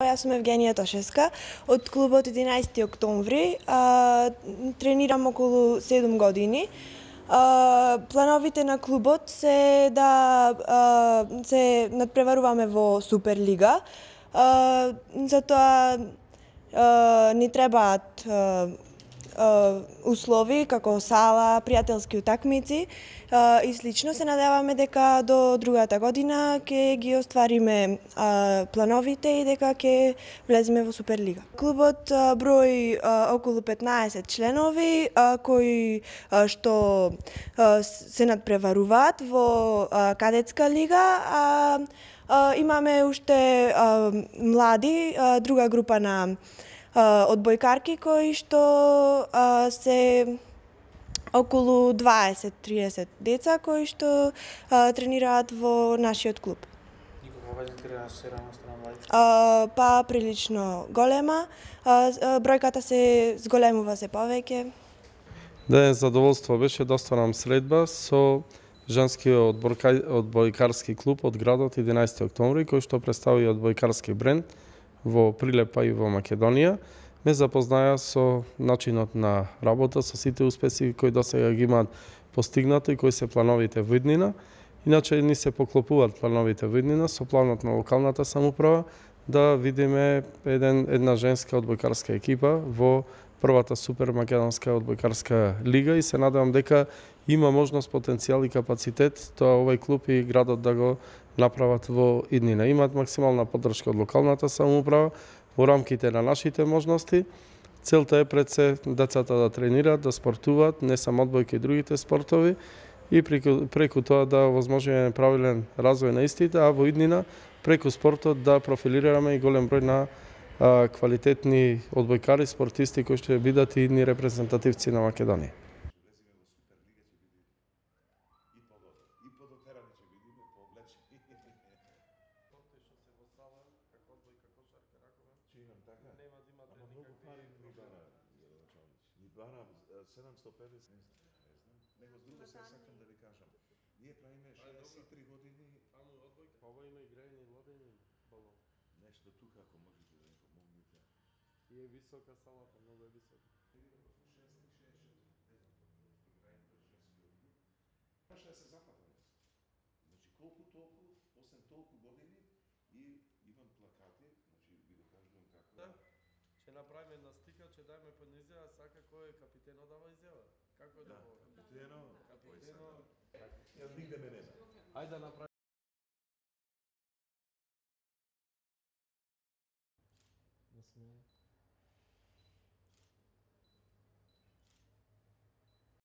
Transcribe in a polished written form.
Јас сум Евгенија Тошевска од клубот 11 октомври. Тренирам околу 7 години. Плановите на клубот се да се надпреваруваме во Суперлига. Затоа ни требаат услови како сала, пријателски утакмици и слично. Се надеваме дека до другата година ќе ги оствариме плановите и дека ќе влеземе во Суперлига. Клубот брои околу 15 членови кои што се надпреваруваат во кадетска лига, имаме уште млади, друга група на одбојкарки кои што се околу 20-30 деца кои што тренираат во нашиот клуб. Никога веќе тренираш млади? Па прилично голема. Бројката се зголемува се повеќе. Денес задоволство беше да остварам средба со женскиот одбојкарски клуб од градот 11 октомври, кој што представи одбојкарски бренд во Прилепа и во Македонија. Ме запознаја со начинот на работа, со сите успеси кои досега ги имаат постигнато и кои се плановите во иднина. Иначе ни се поклопуваат плановите во иднина со планот на локалната самоуправа да видиме една женска одбојкарска екипа во првата супер македонска одбојкарска лига и се надевам дека има можност, потенцијал и капацитет тоа овој клуб и градот да го направат во иднина. Имаат максимална поддршка од локалната самоуправа во рамките на нашите можности. Целта е пред се децата да тренираат, да спортуваат, не само одбојка и другите спортови и преку тоа да овозможиме правилен развој на истите, а во иднина преку спортот да профилираме и голем број на квалитетни одбојкари, спортисти кои ќе бидат и идни репрезентативци на Македонија. Него с друго се сакам да ви кажам. Ние правиме 63 години. Ова има играње лодење боло. Нешто тука ако можете да ми помогнете. И е висока салата, многу е висока. 6-6. Може да се запада. Значи колку толку, осем толку години и имам плакати, значи ви го кажувам како. Да. Ќе направиме една слика, ќе дајме под изјава, сака кој е капитенот дава изјава. Како е да го? Капитено. Јас нигде ме нема. Ајде да направиме. Да сме